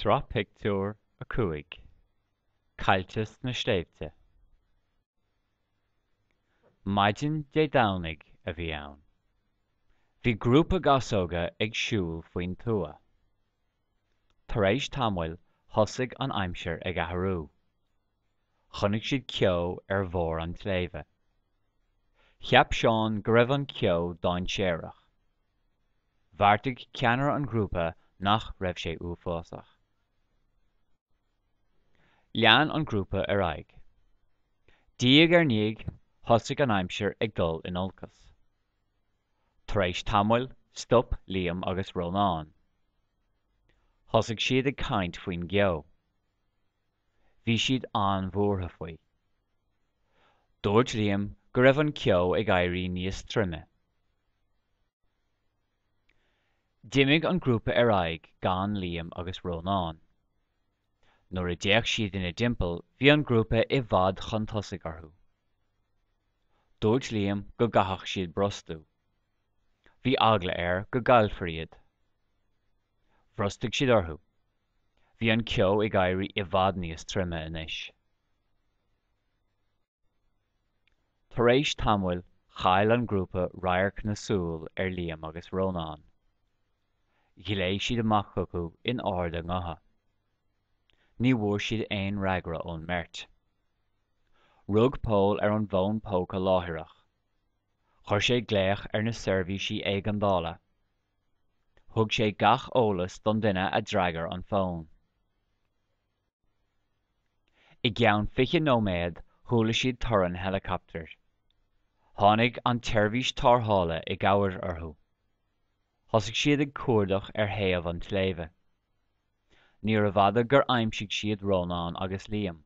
Sraith Pictiúr 5, Caillte sna Sléibhte. Maidin Dé Domhnaigh a bhí ann. Bhí grúpa gasóga ag siúl faoin tuath. Tar éis tamaill thosaigh an aimsir ag athrú. Chonaic siad ceo ar bharr an tsléibhe. Cheap Seán go raibh an ceo dainséarach. Bheartaigh ceannaire an ghrúpa nach raibh sé uafásach. Lean an grúpa ar aghaidh. Diaidh ar ndiaidh, thosaigh an aimsir ag dul in olcas. Tar éis tamaill, stop Liam agus Rónán. Thosaigh siad ag caint faoin gceo. Bhí siad an-bhuartha faoi. Dúirt Liam go raibh an ceo ag éirí níos troime. D'imigh an grúpa ar aghaidh gan Liam agus Rónán. Nuair a d'fhéach siad ina dtimpeall bhí an grúpa i bhfad chun tosaigh orthu. Dúirt Liam go gcaithfeadh siad brostú. Bhí eagla air go gcaillfear iad. Bhrostaigh siad orthu. Bhí an ceo ag éirí i bhfad níos troime anois. Tar éis tamaill chaill an grúpa radharc na súl ar Liam agus Rónán. Ghlaoigh siad amach chucu in ard a ngutha. Ní bhfuair siad aon fhreagra ón mbeirt. Rug Pól ar an bhfón póca láithreach. Chuir sé glaoch ar na seirbhísí éigeandála. Thug sé gach eolas don duine a d'fhreagair an fón. I gceann 20 nóiméad chuala siad torann heileacaptair. Tháinig an tseirbhís tarrthála i gcabhair orthu. Thosaigh siad ag cuardach ar thaobh an tsléibhe. Níorbh fhada gur aimsigh siad Rónán agus Liam.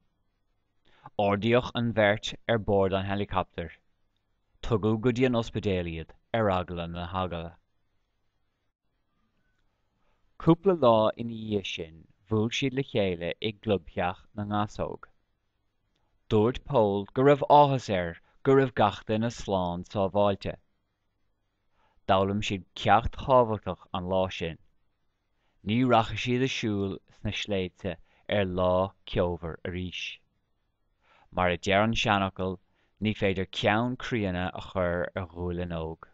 Ardaíodh an bheirt ar bord an heileacaptair. Tugadh go dtí an ospidéal iad ar eagla na heagla. Cúpla lá ina dhiaidh sin bhuail siad le chéile i gclubtheach na nGasóg. Dúirt Pól go raibh áthas air go raibh gach duine slán sábháilte. D'fhoghlaim siad ceacht tábhachtach an lá sin. Ní rachaidh siad ag siúl sna sléibhte ar lá ceomhar arís. Mar a deir an seanfhocal, ní féidir ceann críonna a chur ar ghualainn óg.